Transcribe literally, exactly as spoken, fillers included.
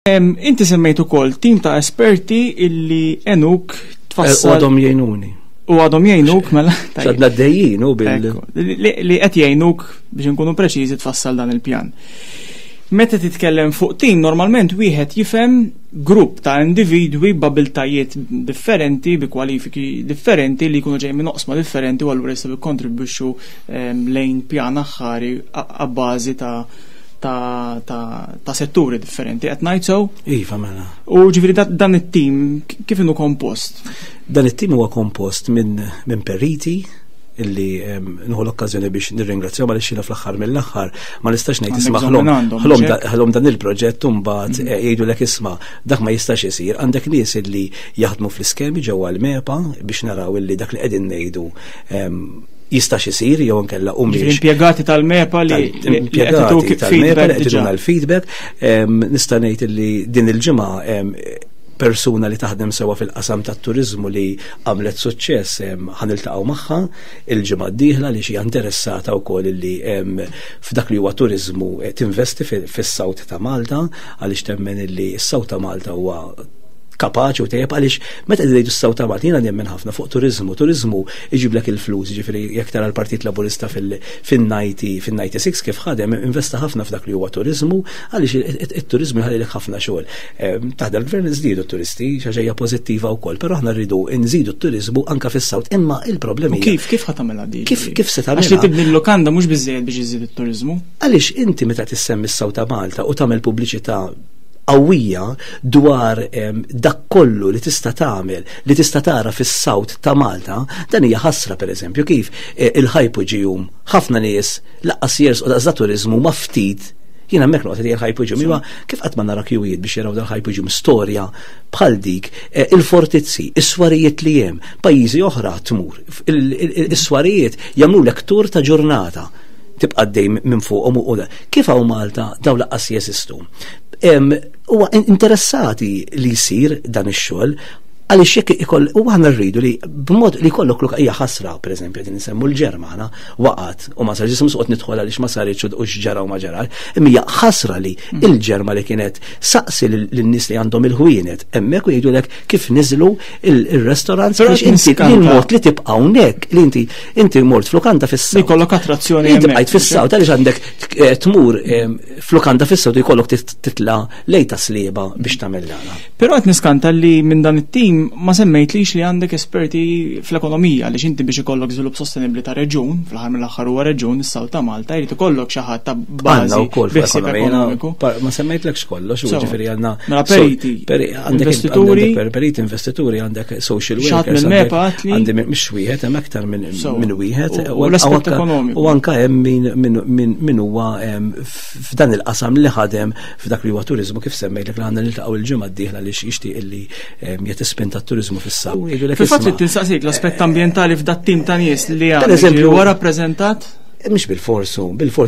Inti semmejt ukoll tim ta' esperti illi għenuk tfassal. U għadhom jgħinuni. U għadhom jgħinuk mela. Għadna għaddejjin u bil. Li qed jgħinuk biex nkunu preċiżi tfassal dan il-pjan. Meta titkellem fuq tim, normalment wieħed jifhem grupp ta' individwi b'abiltajiet differenti, bi kwalifiki differenti li jkunu ġej minn oqsma differenti u allura jistgħu jikkontribwixxu lejn pjan aħħari abbażi ta' ta', ta, ta setturi differenti. Qed ngħid sew? Iva mela. U ġifieri dan it-tim kif inhu kompost? Dan it-tim huwa kompost minn min periti illi nieħu l-okkażjoni biex nirringrazzjaw għaliex jiena fl-aħħar mill-aħħar ma nistax ngħid isma' ħlom dan il-proġett u mbagħad mm. eh, jgħidulek isma' dak ma jistax isir. Għandek nies illi jaħdmu fl-iskemi ġewwa l-MEPA biex naraw illi dak li qegħdin ngħidu jistax isir jew inkella u mhix. Impjegati tal-MEPA li impjegati tal-MEPA li qed l-feedback, nista' ngħid li din il-ġimgħa persuna li taħdem sewa fil-qasam tat-turizmu li għamlet suċċess ħa niltaqgħu magħha il-ġimgħa d-dieħla li xi interessata wkoll li f'dak li huwa turizmu eh, tinvesti fis-South ta' Malta għaliex temmen li s-South ta' Malta huwa kapaċi u tajjeb għaliex meta ngħidu s-South ta' Malta jiena nemmen ħafna fuq turizmu. Turizmu iġiblek il-flus, ġifieri jekk tara l-Partit Laburista fin-ninety fin-ninety-six kif ħadem investa ħafna f'dak li huwa turizmu għaliex it-turizmu jħallilek ħafna xogħol. Taħt il-gvern żdiedu t-turisti, xi ħaġa pożittiva wkoll, però aħna rridu nżidu t-turizmu anka fis-South. Imma il-problemi Kif kif ħa tagħmilha di? Kif kif se tagħmilha? Għax li tibni l-lukanda mhux biżejjed biex iżid it-turizmu. Għaliex inti meta tissemmi s-South ta' Malta u tagħmel pubbliċità qawwija dwar dak kollu li tista' tagħmel, li tista' tara fis-South ta' Malta, dan hija ħasra pereżempju kif eh, il-Hypogeum ħafna nies lanqas jersqu daqs turizmu ma ftit. Jiena hemmhekk noqgħod li l-Hypogeum huwa kif qatt ma nara kjuwijiet biex jaraw dal-Hypogeum storja bħal dik, eh, il-fortizzi, is-swarijiet li hemm, pajjiżi oħra tmur, is-swarijiet jagħmlu tur ta' ġurnata tibqa' dej minn fuqhom u kif hawn Malta daw lanqas jeżistu. Huwa interessati li jsir dan ix-xogħol għaliex jekk ikoll u aħna rridu li b'mod li jkollok luk hija ħasra pereżempju din insemmu l-Ġermana waqgħet u ma sarx ismu soqgħod nidħol għaliex ma saritx u x'ġara u ma ġara. Imma hija ħasra li mm. il-Ġerma li kienet saqsi lin-nies li għandhom il-ħwienet hemmhekk u jgħidulek kif niżlu il-restaurants biex inti il-mod li tibqa' hawnhekk li inti inti mort flukanda fis-South. Jkollok attrazzjoni. Inti bqajt fis-South għaliex għandek eh, tmur flukanda fis-South jkollok titla' lejn Tas-Sliema biex tagħmel dana. Però qed niskanta li minn dan it-tim ma semmejtlix li għandek esperti fl-ekonomija li inti biex ikollok żvilupp sostenibbli ta' reġun, fl-aħħar mill-aħħar huwa reġun is-South ta' Malta, jrid ikollok xi ħadd ta' bażi wkoll ekonomiku. Ma semmejtlekx kollox, ġifieri għandna. Mela periti, investituri, periti, investituri, għandek social workers. Għandi mhux wieħed, hemm aktar minn wieħed. U l-aspett ekonomiku. U anka hemm min huwa f'dan il-qasam li ħadem f'dak li huwa turizmu kif semmejtlek li għandna niltaqgħu il-ġimgħa d-dieħla li jixtieq illi jagħti spinta turizmu fis-South. Fil-fatt li tinsaqsik l-aspett ambjentali f'dat tim ta' nies li għandek huwa rappreżentat? Mhux bil-forsu, bil-fors